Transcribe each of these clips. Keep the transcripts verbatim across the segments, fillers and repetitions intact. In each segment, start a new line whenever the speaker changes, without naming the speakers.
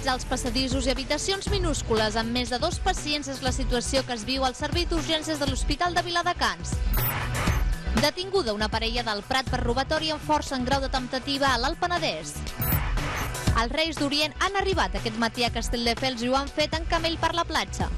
als passadissos i habitacions minúscules amb més de dos pacients és la situació que es viu al servei d'urgències de l'Hospital de Viladecans. Detinguda una parella del Prat per robatori amb força en grau de temptativa a l'Alt Penedès. Els Reis d'Orient han arribat aquest matí a Castelldefels i ho han fet en camell per la platja.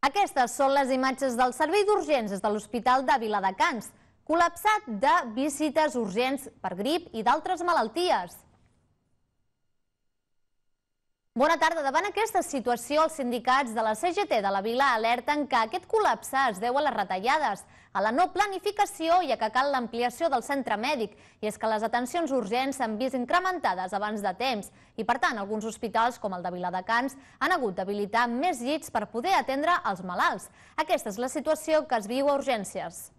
Aquestes són les imatges del servei d'urgències de l'Hospital de Viladecans, col·lapsat de visites urgents per grip i d'altres malalties. Bona tarda. Davant aquesta situació, els sindicats de la C G T de la Vila alerten que aquest col·lapse es deu a les retallades, a la no planificació i a que cal l'ampliació del centre mèdic. I és que les atencions urgents s'han vist incrementades abans de temps i, per tant, alguns hospitals, com el de Viladecans, han hagut d'habilitar més llits per poder atendre els malalts. Aquesta és la situació que es viu a urgències.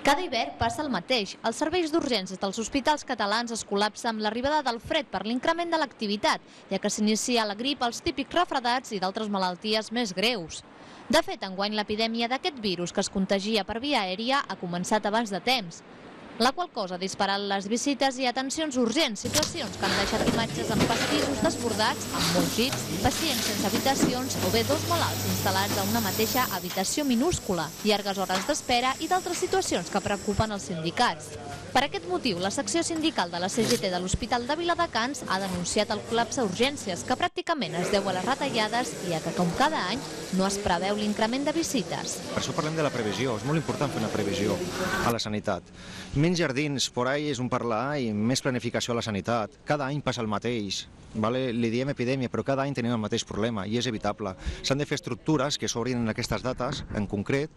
Cada hivern passa el mateix. Els serveis d'urgències dels hospitals catalans es col·lapsen amb l'arribada del fred per l'increment de l'activitat, ja que s'inicia la grip, els típics refredats i d'altres malalties més greus. De fet, enguany l'epidèmia d'aquest virus que es contagia per via aèria ha començat abans de temps, la qual cosa ha disparat les visites i atencions urgents, situacions que han deixat imatges amb passadissos desbordats, amb molts llits, pacients sense habitacions o bé dos malalts instal·lats a una mateixa habitació minúscula, llargues hores d'espera i d'altres situacions que preocupen els sindicats. Per aquest motiu, la secció sindical de la C G T de l'Hospital de Viladecans ha denunciat el col·lapse a urgències, que pràcticament es deu a les retallades i a que, com cada any, no es preveu l'increment de visites.
Per això parlem de la previsió. És molt important fer una previsió a la sanitat. Menys jardins, por ahí és un parlar, i més planificació a la sanitat. Cada any passa el mateix. Vale? Li diem epidèmia, però cada any tenim el mateix problema i és evitable. S'han de fer estructures que s'obrin en aquestes dates, en concret,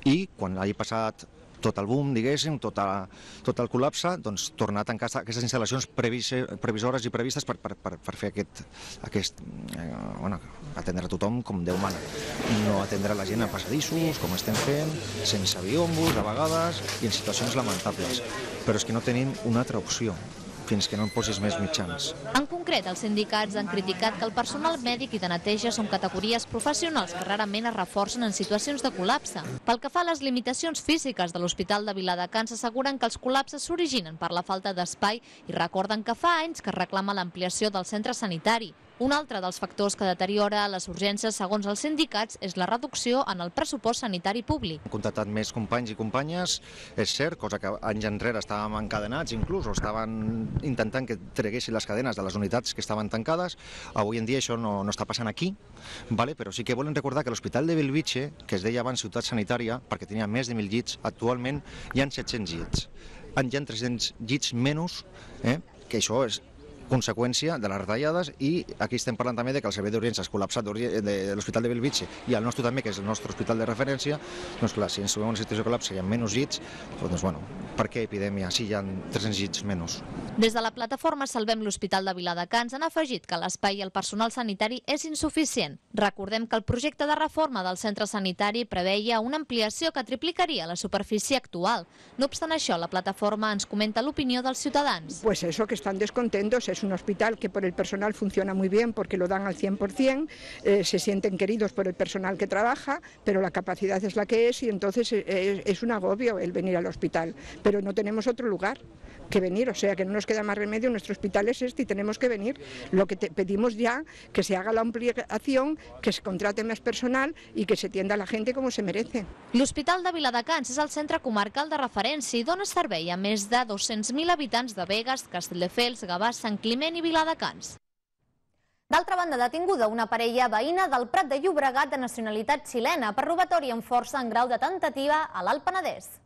i quan hagi passat tot el boom, diguéssim, tot, a, tot el col·lapse, doncs tornar a tancar aquestes instal·lacions previsores i previstes per, per, per, per fer aquest, aquest eh, bueno, atendre a tothom com Déu mana. No atendre la gent a passadissos, com estem fent, sense biombos, a vegades, i en situacions lamentables. Però és que no tenim una altra opció fins que no en posis més mitjans.
En concret, els sindicats han criticat que el personal mèdic i de neteja són categories professionals que rarament es reforcen en situacions de col·lapse. Pel que fa a les limitacions físiques de l'Hospital de Viladecans, asseguren que els col·lapses s'originen per la falta d'espai i recorden que fa anys que es reclama l'ampliació del centre sanitari. Un altre dels factors que deteriora les urgències, segons els sindicats, és la reducció en el pressupost sanitari públic.
Hem contactat més companys i companyes, és cert, cosa que anys enrere estàvem encadenats inclús, o estaven intentant que treguessin les cadenes de les unitats que estaven tancades. Avui en dia això no, no està passant aquí, vale? Però sí que volen recordar que l'Hospital de Bellvitge, que es deia abans ciutat sanitària, perquè tenia més de mil llits, actualment hi ha set-cents llits. Hi ha tres-cents llits menys, eh? Que això és conseqüència de les retallades, i aquí estem parlant també de que el servei d'urgències col·lapsat de l'Hospital de Bellvitge i el nostre també, que és el nostre hospital de referència, doncs clar, si ens trobem en una situació de col·lapse hi ha menys llits, doncs bueno, per què epidèmia si hi ha tres-cents llits menys?
Des de la plataforma Salvem l'Hospital de Viladecans han afegit que l'espai i el personal sanitari és insuficient. Recordem que el projecte de reforma del centre sanitari preveia una ampliació que triplicaria la superfície actual. No obstant això, la plataforma ens comenta l'opinió dels ciutadans.
Pues eso, que están descontentos. Es un hospital que por el personal funciona muy bien porque lo dan al cien por cien, eh, se sienten queridos por el personal que trabaja, pero la capacidad es la que es y entonces es, es un agobio el venir al hospital. Pero no tenemos otro lugar que venir, o sea que no nos queda más remedio, nuestro hospital es este y tenemos que venir. Lo que te pedimos ya, que se haga la ampliación, que se contrate más personal y que se atienda a la gente como se merece.
L'Hospital de Viladecans és el centre comarcal de referència i dona servei a més de dos-cents mil habitants de Begues, Castelldefels, Gavà, Sant Climent i Viladecans. D'altra banda, detinguda una parella veïna del Prat de Llobregat de nacionalitat xilena per robatori amb força en grau de temptativa a l'Alt Penedès.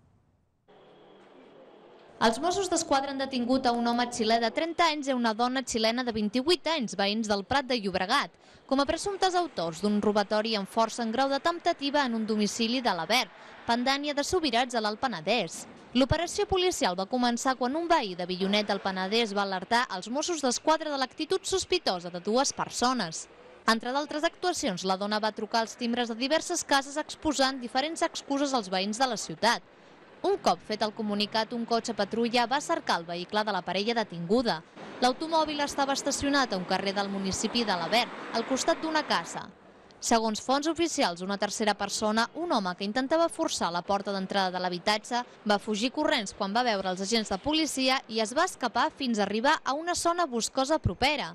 Els Mossos d'Esquadra han detingut a un home xilè de trenta anys i a una dona xilena de vint-i-vuit anys, veïns del Prat de Llobregat, com a presumptes autors d'un robatori amb força en grau de temptativa en un domicili de l'Avern, pendània de Subirats a l'Alt Penedès. L'operació policial va començar quan un veí de Villonet del Penedès va alertar els Mossos d'Esquadra de l'actitud sospitosa de dues persones. Entre d'altres actuacions, la dona va trucar als timbres de diverses cases exposant diferents excuses als veïns de la ciutat. Un cop fet el comunicat, un cotxe patrulla va cercar el vehicle de la parella detinguda. L'automòbil estava estacionat a un carrer del municipi de l'Avern, al costat d'una casa. Segons fonts oficials, una tercera persona, un home que intentava forçar la porta d'entrada de l'habitatge, va fugir corrents quan va veure els agents de policia i es va escapar fins a arribar a una zona boscosa propera.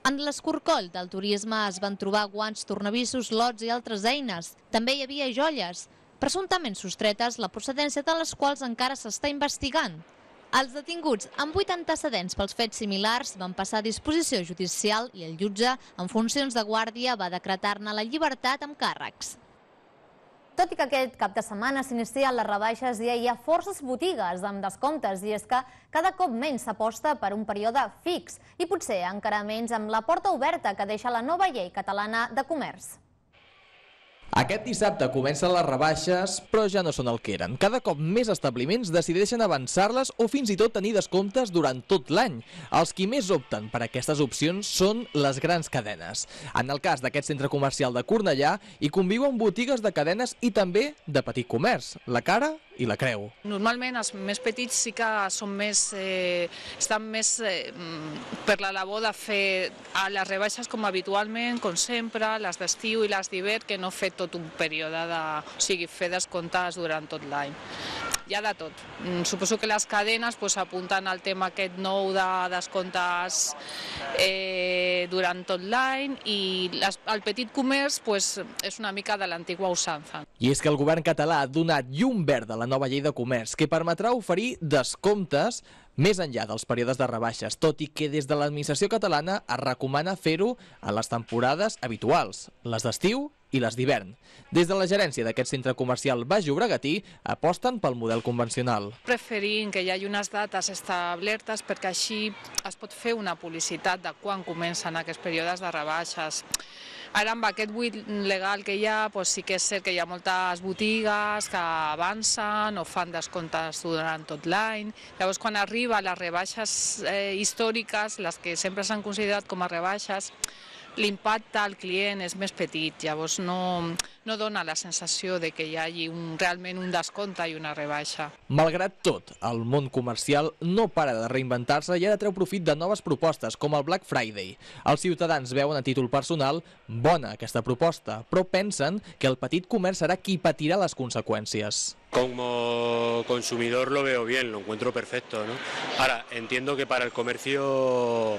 En l'escorcoll del turisme es van trobar guants, tornavissos, lots i altres eines. També hi havia joies, presumptament sostretes, la procedència de les quals encara s'està investigant. Els detinguts, amb vuit antecedents pels fets similars, van passar a disposició judicial i el jutge, en funcions de guàrdia, va decretar-ne la llibertat amb càrrecs. Tot i que aquest cap de setmana s'inicien les rebaixes, ja hi ha forces botigues amb descomptes, i és que cada cop menys s'aposta per un període fix i potser encara menys amb la porta oberta que deixa la nova llei catalana de comerç.
Aquest dissabte comencen les rebaixes, però ja no són el que eren. Cada cop més establiments decideixen avançar-les o fins i tot tenir descomptes durant tot l'any. Els qui més opten per aquestes opcions són les grans cadenes. En el cas d'aquest centre comercial de Cornellà, hi conviuen botigues de cadenes i també de petit comerç, la Cara i la Creu.
Normalment els més petits sí que són més, eh, estan més eh, per la labor de fer a les rebaixes com habitualment, com sempre, les d'estiu i les d'hivern, que no fer tot un període de... o sigui, fer descomptes durant tot l'any. Hi ha de tot. Suposo que les cadenes pues, apunten al tema aquest nou de descomptes eh, durant tot l'any i les, el petit comerç pues, és una mica de l'antigua usança.
I és que el govern català ha donat llum verda a la nova llei de comerç, que permetrà oferir descomptes més enllà dels períodes de rebaixes, tot i que des de l'administració catalana es recomana fer-ho a les temporades habituals, les d'estiu i les d'hivern. Des de la gerència d'aquest centre comercial Baix Llobregatí aposten pel model convencional.
Preferim que hi hagi unes dates establertes perquè així es pot fer una publicitat de quan comencen aquests períodes de rebaixes. Ara, amb aquest buit legal que hi ha, doncs sí que és cert que hi ha moltes botigues que avancen o fan descomptes durant tot l'any. Llavors, quan arriba les rebaixes eh, històriques, les que sempre s'han considerat com a rebaixes, l'impacte al client és més petit, llavors no, no dona la sensació de que hi hagi un, realment un descompte i una rebaixa.
Malgrat tot, el món comercial no para de reinventar-se i ara treu profit de noves propostes, com el Black Friday. Els ciutadans veuen a títol personal bona aquesta proposta, però pensen que el petit comerç serà qui patirà les conseqüències.
Como consumidor lo veo bien, lo encuentro perfecto, ¿no? Ahora, entiendo que para el comercio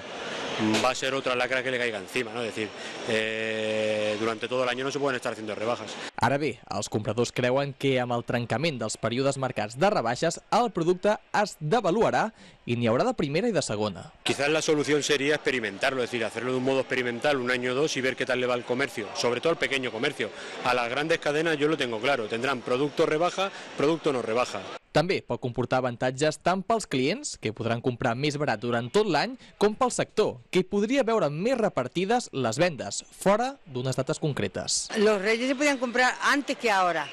va a ser otra lacra que le caiga encima, ¿no? Es decir, eh, durante todo el año no se pueden estar haciendo rebajas.
Ara bé, els compradors creuen que amb el trencament dels períodes marcats de rebaixes, el producte es devaluarà i n'hi haurà de primera i de segona.
Quizás la solución sería experimentarlo, es decir, hacerlo de un modo experimental un año o dos y ver qué tal le va al comercio, sobre todo al pequeño comercio. A las grandes cadenas yo lo tengo claro, tendrán producto rebaja, producto no rebaja.
També pot comportar avantatges tant pels clients, que podran comprar més barat durant tot l'any, com pel sector, que podria veure més repartides les vendes, fora d'unes dates concretes.
Los reyes se podían comprar antes que ahora,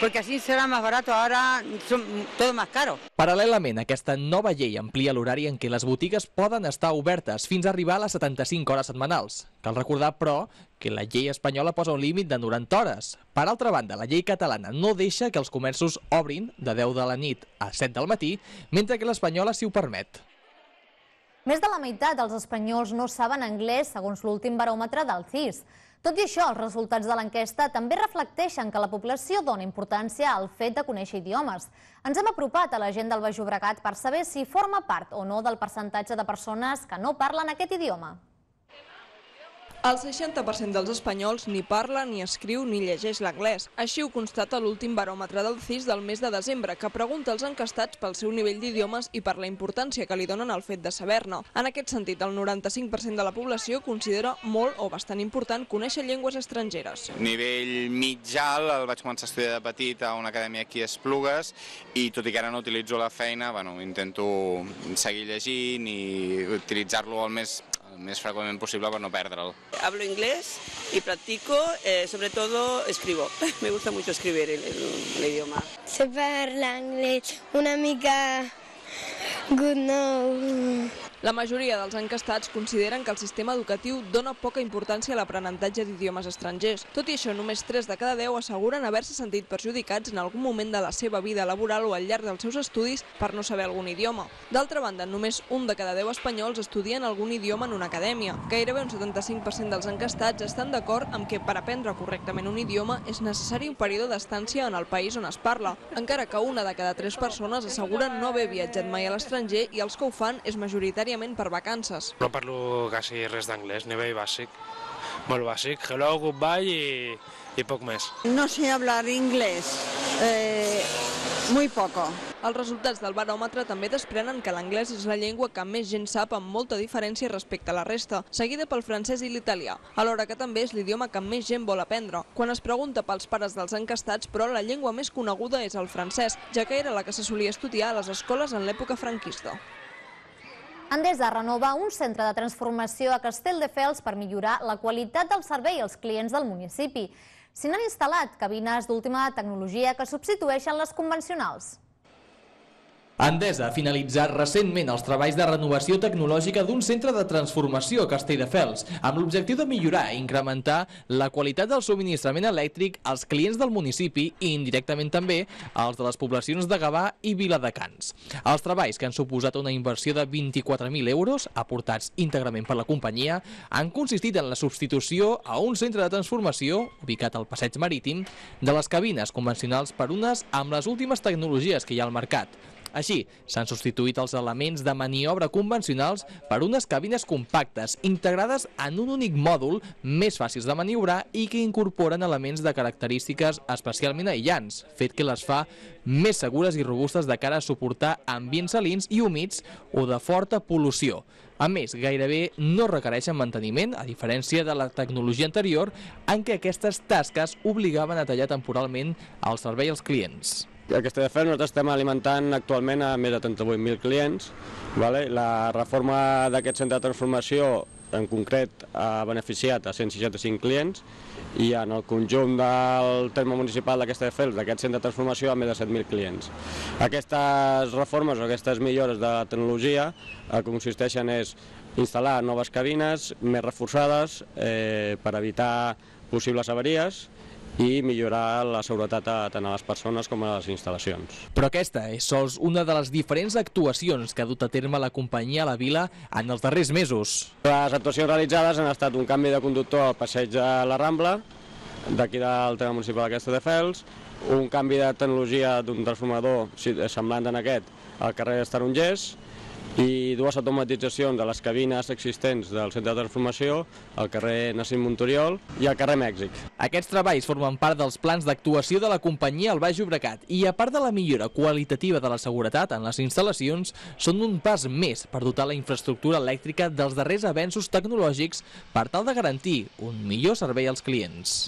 porque así será más barato, ahora son todo más caro.
Paral·lelament, aquesta nova llei amplia l'horari en què les botigues poden estar obertes fins a arribar a les setanta-cinc hores setmanals. Cal recordar, però, que la llei espanyola posa un límit de noranta hores. Per altra banda, la llei catalana no deixa que els comerços obrin de deu de la nit a set del matí, mentre que l'espanyola sí ho permet.
Més de la meitat dels espanyols no saben anglès, segons l'últim baròmetre del C I S. Tot i això, els resultats de l'enquesta també reflecteixen que la població dona importància al fet de conèixer idiomes. Ens hem apropat a la gent del Baix Llobregat per saber si forma part o no del percentatge de persones que no parlen aquest idioma.
El seixanta per cent dels espanyols ni parla, ni escriu, ni llegeix l'anglès. Així ho constata l'últim baròmetre del C I S del mes de desembre, que pregunta als encastats pel seu nivell d'idiomes i per la importància que li donen al fet de saber-ne. En aquest sentit, el noranta-cinc per cent de la població considera molt o bastant important conèixer llengües estrangeres.
Nivell mitjà el vaig començar a estudiar de petit a una acadèmia aquí a Esplugues i tot i que ara no utilitzo la feina, bueno, intento seguir llegint i utilitzar-lo el més més freqüentment possible per no perdre'l.
Hablo inglés y practico, eh, sobre todo escribo. Me gusta mucho escribir el, el, el idioma.
Se parla anglès una mica good no.
La majoria dels encastats consideren que el sistema educatiu dona poca importància a l'aprenentatge d'idiomes estrangers. Tot i això, només tres de cada deu asseguren haver-se sentit perjudicats en algun moment de la seva vida laboral o al llarg dels seus estudis per no saber algun idioma. D'altra banda, només un de cada deu espanyols estudien algun idioma en una acadèmia. Gairebé un setanta-cinc per cent dels encastats estan d'acord amb que per aprendre correctament un idioma és necessari un període d'estància en el país on es parla, encara que una de cada tres persones asseguren no haver viatjat mai a l'estranger i els que ho fan és majoritàriament per vacances.
No parlo quasi res d'anglès, nivell bàsic, molt bàsic, hello, goodbye i, i poc més.
No sé hablar inglés, eh, muy poco.
Els resultats del baròmetre també desprenen que l'anglès és la llengua que més gent sap amb molta diferència respecte a la resta, seguida pel francès i l'italià, alhora que també és l'idioma que més gent vol aprendre. Quan es pregunta pels pares dels encastats, però la llengua més coneguda és el francès, ja que era la que se solia estudiar a les escoles en l'època franquista.
Endesa renova un centre de transformació a Castelldefels per millorar la qualitat del servei als clients del municipi. S'hi han instal·lat cabines d'última tecnologia que substitueixen les convencionals.
Endesa ha finalitzat recentment els treballs de renovació tecnològica d'un centre de transformació a Castelldefels, amb l'objectiu de millorar i incrementar la qualitat del subministrament elèctric als clients del municipi i indirectament també als de les poblacions de Gavà i Viladecans. Els treballs, que han suposat una inversió de vint-i-quatre mil euros, aportats íntegrament per la companyia, han consistit en la substitució a un centre de transformació, ubicat al Passeig Marítim, de les cabines convencionals per unes amb les últimes tecnologies que hi ha al mercat. Així, s'han substituït els elements de maniobra convencionals per unes cabines compactes, integrades en un únic mòdul, més fàcils de maniobrar i que incorporen elements de característiques especialment aïllants, fet que les fa més segures i robustes de cara a suportar ambients salins i humits o de forta pol·lució. A més, gairebé no requereixen manteniment, a diferència de la tecnologia anterior, en què aquestes tasques obligaven a tallar temporalment el servei als clients.
A Castelldefels nosaltres estem alimentant actualment a més de trenta-vuit mil clients. La reforma d'aquest centre de transformació en concret ha beneficiat a cent seixanta-cinc clients i en el conjunt del terme municipal de Castelldefels d'aquest centre de transformació a més de set mil clients. Aquestes reformes o aquestes millores de la tecnologia el que consisteixen és instal·lar noves cabines més reforçades eh, per evitar possibles avaries i millorar la seguretat tant a les persones com a les instal·lacions.
Però aquesta és sols una de les diferents actuacions que ha dut a terme la companyia a la vila en els darrers mesos.
Les actuacions realitzades han estat un canvi de conductor al passeig de la Rambla, d'aquí del terme municipal de Castelldefels, un canvi de tecnologia d'un transformador semblant en aquest al carrer dels Tarongers, i dues automatitzacions de les cabines existents del centre de transformació al carrer Nassim Montoriol i al carrer Mèxic.
Aquests treballs formen part dels plans d'actuació de la companyia al Baix Llobregat i, a part de la millora qualitativa de la seguretat en les instal·lacions, són un pas més per dotar la infraestructura elèctrica dels darrers avenços tecnològics per tal de garantir un millor servei als clients.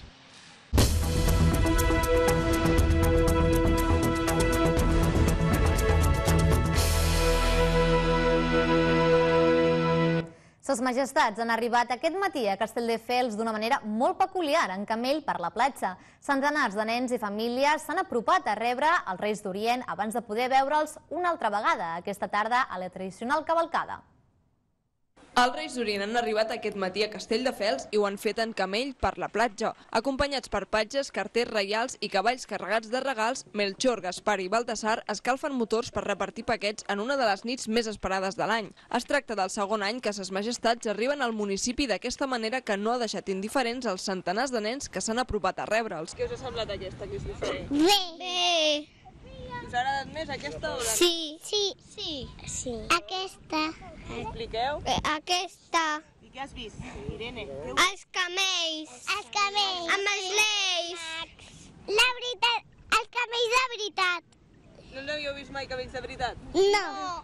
Ses majestats han arribat aquest matí a Castelldefels d'una manera molt peculiar, en camell per la platja. Centenars de nens i famílies s'han apropat a rebre els Reis d'Orient abans de poder veure'ls una altra vegada aquesta tarda a la tradicional cavalcada.
Els Reis d'Orient han arribat aquest matí a Castelldefels i ho han fet en camell per la platja. Acompanyats per patges, carters reials i cavalls carregats de regals, Melchor, Gaspar i Baltasar escalfen motors per repartir paquets en una de les nits més esperades de l'any. Es tracta del segon any que ses majestats arriben al municipi d'aquesta manera que no ha deixat indiferents els centenars de nens que s'han apropat a rebre'ls. Què us ha semblat aquesta que us diferent?
Bé! Bé!
Us ha agradat més aquesta o la...
Sí. Sí. Sí. Sí. Aquesta.
Expliqueu?
Aquesta.
I què has vist, Irene?
Els camells. Els camells. Amb els leis. La veritat, els camells de veritat.
No n'havíeu vist mai camells de veritat?
No.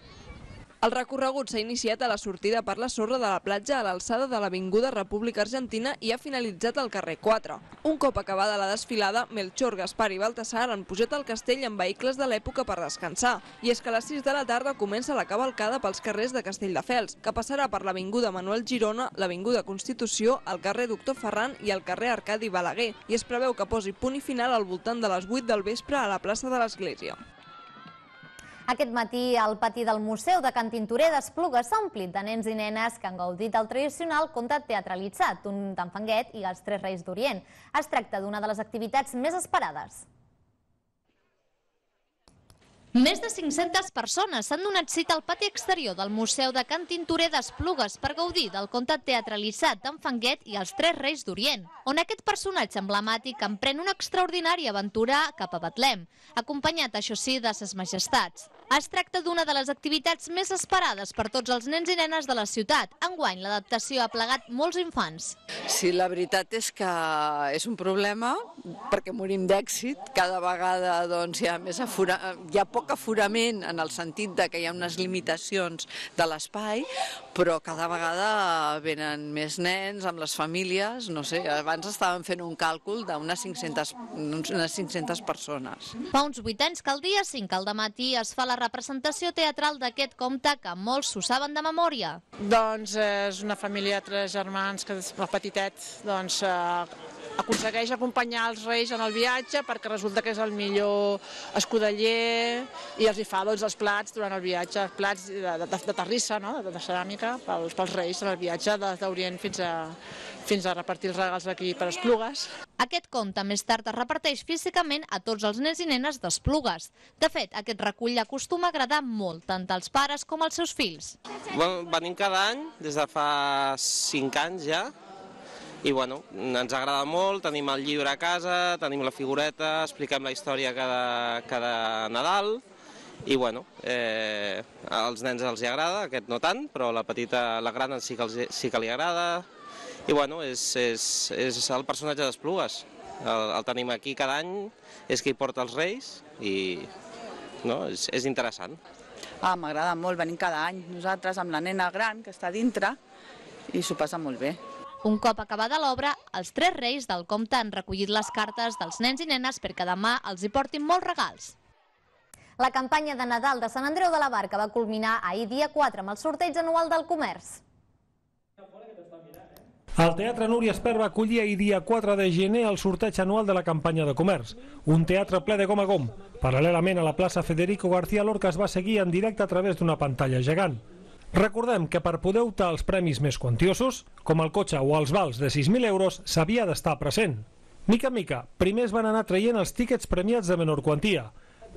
El recorregut s'ha iniciat a la sortida per la sorra de la platja a l'alçada de l'Avinguda República Argentina i ha finalitzat al carrer quatre. Un cop acabada la desfilada, Melchor, Gaspar i Baltasar han pujat al castell en vehicles de l'època per descansar. I és que a les sis de la tarda comença la cavalcada pels carrers de Castelldefels, que passarà per l'Avinguda Manuel Girona, l'Avinguda Constitució, el carrer Doctor Ferran i el carrer Arcadi Balaguer, i es preveu que posi punt i final al voltant de les vuit del vespre a la plaça de l'Església.
Aquest matí, el pati del Museu de Can Tintorer d'Esplugues s'ha omplit de nens i nenes que han gaudit del tradicional conte teatralitzat, un d'Enfanguet i els Tres Reis d'Orient. Es tracta d'una de les activitats més esperades.
Més de cinc-centes persones s'han donat cita al pati exterior del Museu de Can Tintorer d'Esplugues per gaudir del conte teatralitzat d'Enfanguet i els Tres Reis d'Orient, on aquest personatge emblemàtic emprèn una extraordinària aventura cap a Betlem, acompanyat, això sí, de ses majestats. Es tracta d'una de les activitats més esperades per tots els nens i nenes de la ciutat. Enguany, l'adaptació ha plegat molts infants.
Sí, la veritat és que és un problema, perquè morim d'èxit. Cada vegada doncs, hi ha més afora... hi ha poc aforament en el sentit de que hi ha unes limitacions de l'espai, però cada vegada venen més nens amb les famílies. No sé, abans estàvem fent un càlcul d'unes cinc-centes unes cinc-centes persones.
Fa uns vuit anys que el dia cinc al dematí es fa la representació teatral d'aquest conte que molts s'ho saben de memòria.
Doncs és una família de tres germans que és petitet, doncs aconsegueix acompanyar els reis en el viatge perquè resulta que és el millor escudeller i els hi fa doncs, els plats durant el viatge, plats de, de, de terrissa, no? de, de ceràmica, pels, pels reis en el viatge d'Orient fins a, fins a repartir els regals aquí per Esplugues.
Aquest conte més tard es reparteix físicament a tots els nens i nenes d'Esplugues. De fet, aquest recull acostuma a agradar molt, tant als pares com als seus fills.
Bueno, venim cada any, des de fa cinc anys ja, i bueno, ens agrada molt, tenim el llibre a casa, tenim la figureta, expliquem la història cada, cada Nadal, i bueno, eh, als nens els hi agrada, aquest no tant, però la petita, la gran sí que, els, sí que li agrada, i bueno, és, és, és el personatge d'Esplugues, el, el tenim aquí cada any, és qui porta els reis, i no, és, és interessant.
Ah, m'agrada molt, venim cada any, nosaltres amb la nena gran que està dintre, i s'ho passa molt bé.
Un cop acabada l'obra, els tres reis del conte han recollit les cartes dels nens i nenes perquè demà els hi portin molts regals.
La campanya de Nadal de Sant Andreu de la Barca va culminar ahir dia quatre amb el sorteig anual del comerç.
El Teatre Núria Espert va acollir ahir dia quatre de gener el sorteig anual de la campanya de comerç. Un teatre ple de gom a gom. Paral·lelament a la plaça Federico García Lorca es va seguir en directe a través d'una pantalla gegant. Recordem que per poder optar als premis més quantiosos, com el cotxe o els vals de sis mil euros, s'havia d'estar present. Mica en mica, primer es van anar traient els tíquets premiats de menor quantia.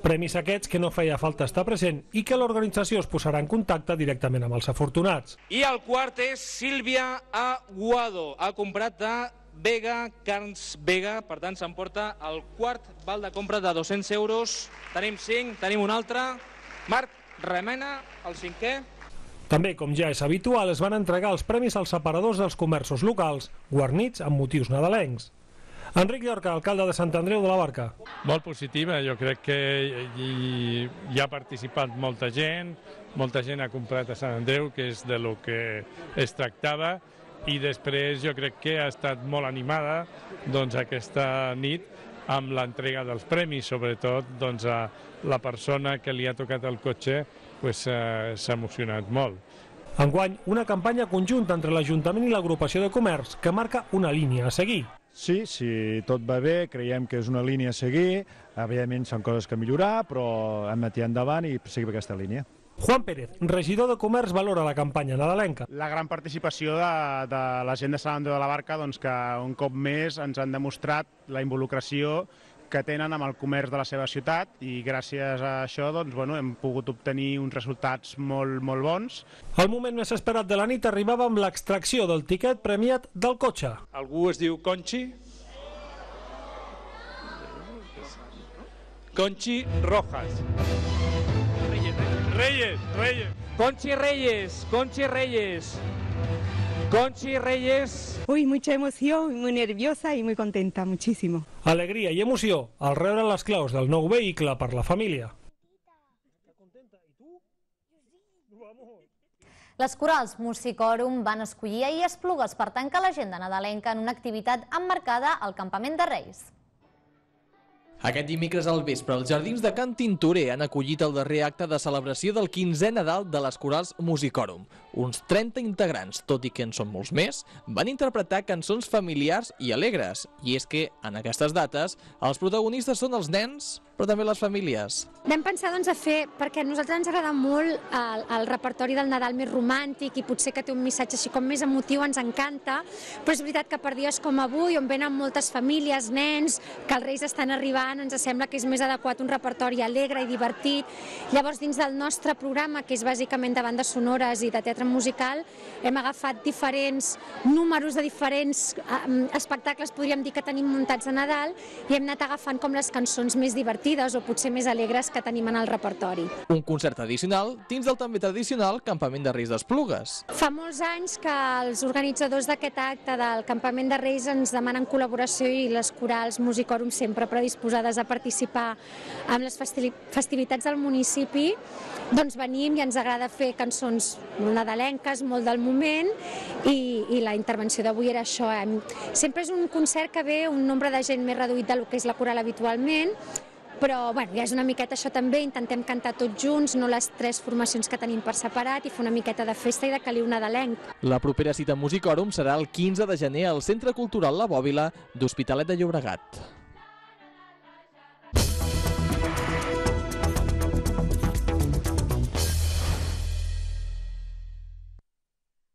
Premis aquests que no feia falta estar present i que l'organització es posarà en contacte directament amb els afortunats.
I el quart és Sílvia Aguado. Ha comprat de Vega, Carns Vega, per tant s'emporta el quart val de compra de dos-cents euros. Tenim cinc, tenim un altre. Marc Remena, el cinquè.
També, com ja és habitual, es van entregar els premis als separadors dels comerços locals, guarnits amb motius nadalencs. Enric Llorca, alcalde de Sant Andreu de la Barca.
Molt positiva, jo crec que hi, hi ha participat molta gent, molta gent ha comprat a Sant Andreu, que és de lo que es tractava, i després jo crec que ha estat molt animada doncs, aquesta nit amb l'entrega dels premis, sobretot doncs, a la persona que li ha tocat el cotxe pues, eh, s'ha emocionat molt.
Enguany, una campanya conjunta entre l'Ajuntament i l'agrupació de comerç que marca una línia a seguir.
Sí, si tot va bé, creiem que és una línia a seguir, evidentment són coses que millorar, però hem de tirar endavant i seguir aquesta línia.
Juan Pérez, regidor de Comerç, valora la campanya nadalenca.
La gran participació de, de la gent de Sant Andreu de la Barca, doncs, que un cop més ens han demostrat la involucració que tenen amb el comerç de la seva ciutat i gràcies a això doncs, bueno, hem pogut obtenir uns resultats molt, molt bons.
El moment més esperat de la nit arribava amb l'extracció del tiquet premiat del cotxe.
Algú es diu Conchi? Conchi Rojas. Reyes, Reyes. Conchi Reyes, Conchi Reyes. Conchi Reyes.
Uy, mucha emoción, muy nerviosa y muy contenta, muchísimo.
Alegria i emoció al rebre les claus del nou vehicle per la família.
Les corals Musicòrum van escollir ahir Esplugues per tancar l'agenda nadalenca en una activitat emmarcada al Campament de Reis.
Aquest dimecres al vespre, els Jardins de Can Tintorer han acollit el darrer acte de celebració del quinzè Nadal de les corals Musicòrum. Uns trenta integrants, tot i que en són molts més, van interpretar cançons familiars i alegres. I és que, en aquestes dates, els protagonistes són els nens, però també les famílies.
Vam pensar doncs, a fer, perquè a nosaltres ens agrada molt el, el repertori del Nadal més romàntic i potser que té un missatge així com més emotiu, ens encanta, però és veritat que per dies com avui, on venen moltes famílies, nens, que els Reis estan arribant, ens sembla que és més adequat un repertori alegre i divertit. Llavors, dins del nostre programa, que és bàsicament de bandes sonores i de teatre musical, hem agafat diferents números de diferents eh, espectacles, podríem dir, que tenim muntats a Nadal, i hem anat agafant com les cançons més divertides o potser més alegres que tenim en el repertori.
Un concert tradicional dins del també tradicional Campament de Reis d'Esplugues.
Fa molts anys que els organitzadors d'aquest acte del Campament de Reis ens demanen col·laboració i les corals Musicòrum sempre predisposades a participar en les festivitats del municipi, doncs venim i ens agrada fer cançons molt nadalenques, molt del moment, i, i la intervenció d'avui era això. Sempre és un concert que ve un nombre de gent més reduït del que és la coral habitualment, però bueno, ja és una miqueta això també, intentem cantar tots junts, no les tres formacions que tenim per separat, i fer una miqueta de festa i de caliu nadalenc.
La propera cita Musicòrum serà el quinze de gener al Centre Cultural La Bòbila d'Hospitalet de Llobregat.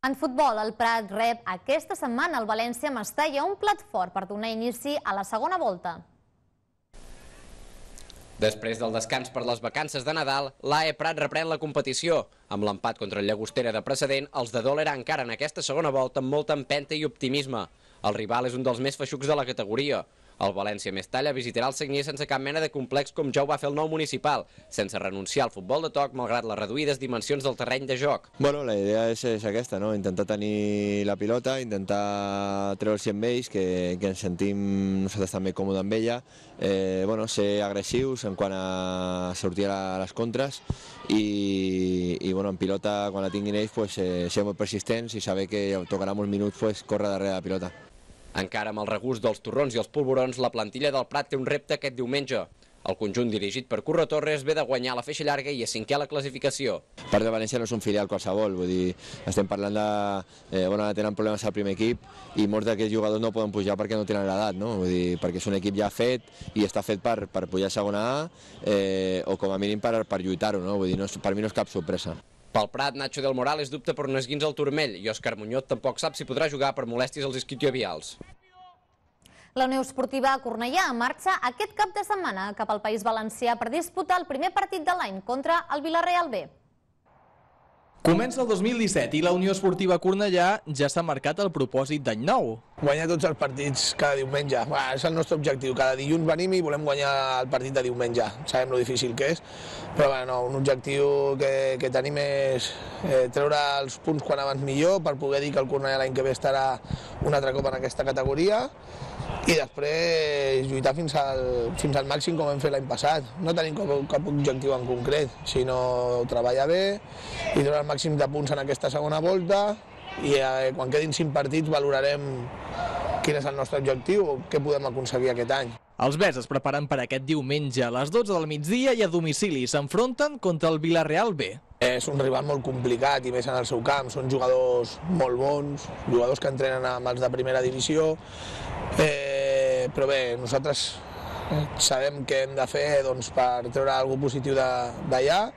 En futbol, el Prat rep aquesta setmana el València Mestalla, un plat fort per donar inici a la segona volta.
Després del descans per les vacances de Nadal, l'A E Prat reprèn la competició. Amb l'empat contra el Llagostera de precedent, els de Dol eren encara en aquesta segona volta amb molta empenta i optimisme. El rival és un dels més feixucs de la categoria. El València Mestalla visitarà el Sagnier sense cap mena de complex com ja ho va fer el nou municipal, sense renunciar al futbol de toc malgrat les reduïdes dimensions del terreny de joc.
Bueno, la idea és, és aquesta, no? Intentar tenir la pilota, intentar treure'ls amb ells, que, que ens sentim nosaltres també còmodes amb ella, eh, bueno, ser agressius en quant a sortir a les contres i, i bueno, en pilota, quan la tinguin ells, pues, eh, ser molt persistents i saber que tocarà molts minuts pues, córrer darrere de la pilota.
Encara amb el regust dels torrons i els polvorons, la plantilla del Prat té un repte aquest diumenge. El conjunt dirigit per Curro Torres ve de guanyar la feixa llarga i a cinquè a la classificació.
A part de València no és un filial qualsevol, vull dir, estem parlant de... Eh, bueno, tenen problemes al primer equip i molts d'aquests jugadors no poden pujar perquè no tenen l'edat, no? Vull dir, perquè és un equip ja fet i està fet per, per pujar a segona A eh, o com a mínim per, per lluitar-ho, no? Vull dir, no és, per mi no és cap sorpresa.
Pel Prat, Nacho del Morales dubta per un esguins al turmell i Òscar Muñoz tampoc sap si podrà jugar per molèsties als isquiotibials.
La Unió Esportiva Cornellà marxa aquest cap de setmana cap al País Valencià per disputar el primer partit de l'any contra el Vila-real B.
Comença el dos mil disset i la Unió Esportiva Cornellà ja s'ha marcat el propòsit d'any nou.
Guanyar tots els partits cada diumenge. Bah, és el nostre objectiu. Cada dilluns venim i volem guanyar el partit de diumenge. Sabem lo difícil que és, però bueno, un objectiu que, que tenim és eh, treure els punts quan abans millor per poder dir que el Cornellà l'any que ve estarà un altre cop en aquesta categoria i després lluitar fins al, fins al màxim com hem fet l'any passat. No tenim cap, cap objectiu en concret, sinó treballar bé i treure el màxim de punts en aquesta segona volta i eh, quan quedin cinc partits valorarem quin és el nostre objectiu o què podem aconseguir aquest any.
Els Bes es preparen per aquest diumenge a les dotze del migdia i a domicili s'enfronten contra el Vila-real B.
És un rival molt complicat i més en el seu camp, són jugadors molt bons, jugadors que entrenen amb els de primera divisió, eh, però bé, nosaltres sabem què hem de fer doncs, per treure alguna cosa positiu d'allà,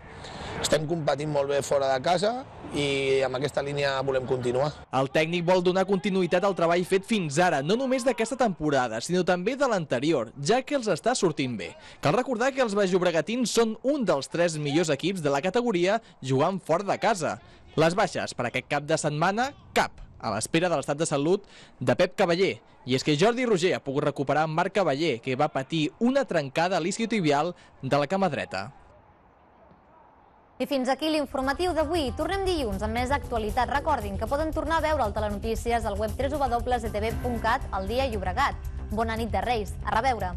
estem competint molt bé fora de casa i amb aquesta línia volem continuar.
El tècnic vol donar continuïtat al treball fet fins ara, no només d'aquesta temporada, sinó també de l'anterior, ja que els està sortint bé. Cal recordar que els baix-llobregatins són un dels tres millors equips de la categoria jugant fora de casa. Les baixes per aquest cap de setmana, cap, a l'espera de l'estat de salut de Pep Cavaller. I és que Jordi Roger ha pogut recuperar Marc Cavaller, que va patir una trencada a l'isquiotibial de la cama dreta.
I fins aquí l'informatiu d'avui. Tornem dilluns amb més actualitat. Recordin que poden tornar a veure el Telenotícies al web w w w punt e te ve punt cat al dia Llobregat. Bona nit de Reis. A reveure.